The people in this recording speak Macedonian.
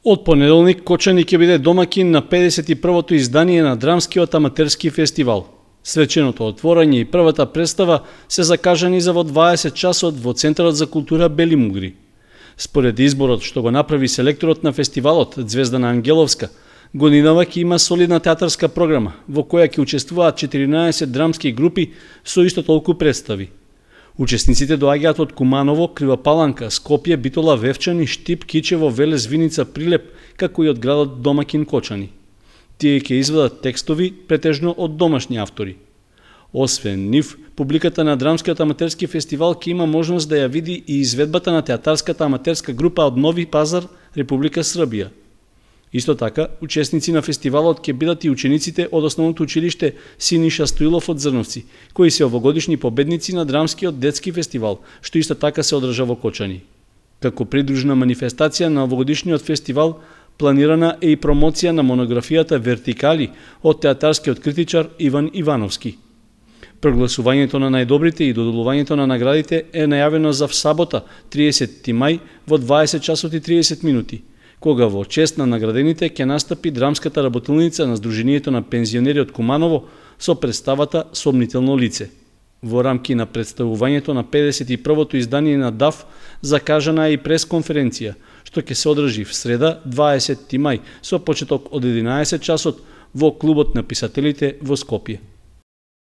Од понеделник Кочани ќе биде домаќин на 51-то издание на Драмскиот аматерски фестивал. Свеченото отворање и првата представа се закажани за во 20 часот во Центарот за култура Бели Мугри. Според изборот што го направи селекторот на фестивалот Звездана Ангеловска, годинава ќе има солидна театарска програма во која ќе учествуваат 14 драмски групи со исто толку представи. Учесниците доаѓаат од Куманово, Крива Паланка, Скопје, Битола, Вевчани, Штип, Кичево, Велес, Виница, Прилеп, како и од градот домаќин Кочани. Тие ќе изведат текстови претежно од домашни автори. Освен нив, публиката на Драмскиот аматерски фестивал ќе има можност да ја види и изведбата на театарската аматерска група од Нови Пазар, Република Србија. Исто така, учесници на фестивалот ќе бидат и учениците од основното училиште Синиша Стоилов од Зрновци, кои се овогодишни победници на Драмскиот детски фестивал, што исто така се одржа во Кочани. Како придружна манифестација на овогодишниот фестивал, планирана е и промоција на монографијата Вертикали од театарскиот критичар Иван Ивановски. Прогласувањето на најдобрите и доделувањето на наградите е најавено за сабота, 30 мај, во 20 часот и 30 минути, кога во чест на наградените ќе настапи драмската работилница на Сдруженијето на пензионери од Куманово со представата Сомнително лице. Во рамки на представувањето на 51-то издание на ДАФ закажана е и пресконференција, што ќе се одржи в среда, 20 мај, со почеток од 11 часот во Клубот на писателите во Скопје.